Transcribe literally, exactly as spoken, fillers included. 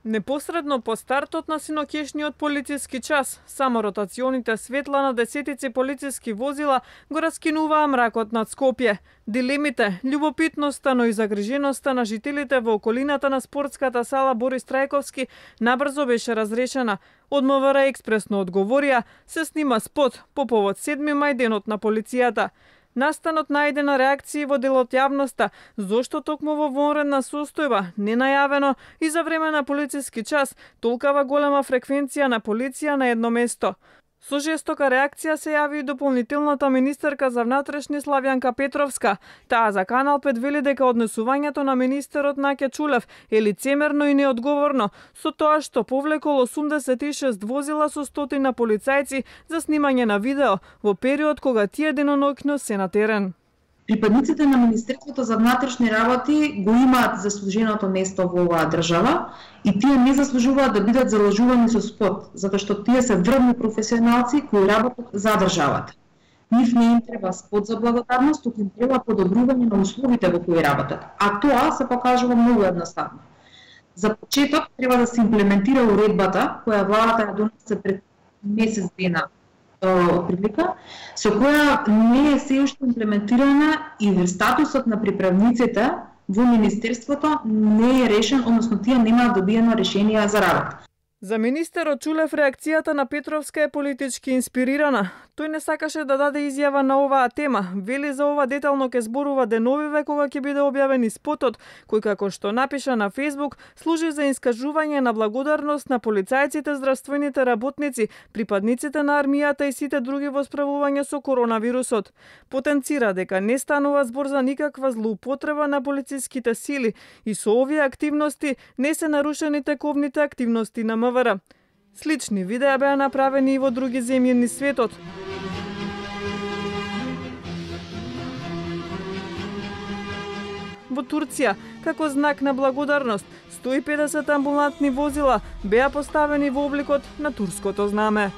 Непосредно по стартот на синокешниот полициски час, само ротационите светла на десетици полициски возила го раскинуваа мракот над Скопје. Дилемите, љубопитноста, но и загриженоста на жителите во околината на спортската сала Борис Трајковски набрзо беше разрешена. Од МВР експресно одговорија, се снима спот по повод седми мај, денот на полицијата. Настанот најде на реакции во дел од јавноста, зошто токму во вонредна состојба, ненајавено и за време на полициски час, толкава голема фреквенција на полиција на едно место. Со жестока реакција се јави и дополнителната министерка за внатрешни Славјанка Петровска. Таа за Канал пет вели дека однесувањето на министерот Наке Чулев е лицемерно и неодговорно, со тоа што повлекол осумдесет и шест возила со стотина полицајци за снимање на видео во период кога тие деноноќно се на терен. Припадниците на Министерството за внатрешни работи го имаат заслуженото место во оваа држава и тие не заслужуваат да бидат залажувани со спот, затоа што тие се врвни професионалци кои работат за државата. Нив не им треба спот за благодарност, туку им треба подобрување на условите во кои работат, а тоа се покажува многу едноставно. За почеток треба да се имплементира уредбата која владата ја донесе пред месец дена прилика, со која не е се уште имплементирана и статусот на приправниците во Министерството не е решен, односно тие немаат добиено решение за работа. За министерот Чулев реакцијата на Петровска е политички инспирирана. Тој не сакаше да даде изјава на оваа тема. Вели за ова детално ке зборува деновиве кога ќе биде објавен и спотот, кој како што напиша на Фејсбук, служи за искажување на благодарност на полицајците, здравствените работници, припадниците на армијата и сите други во справување со коронавирусот. Потенцира дека не станува збор за никаква злоупотреба на полициските сили и со овие активности не се нарушени тековните активности на МВР. Слични видеа беа направени и во други земји низ светот. Во Турција, како знак на благодарност, сто и педесет амбулантни возила беа поставени во обликот на турското знаме.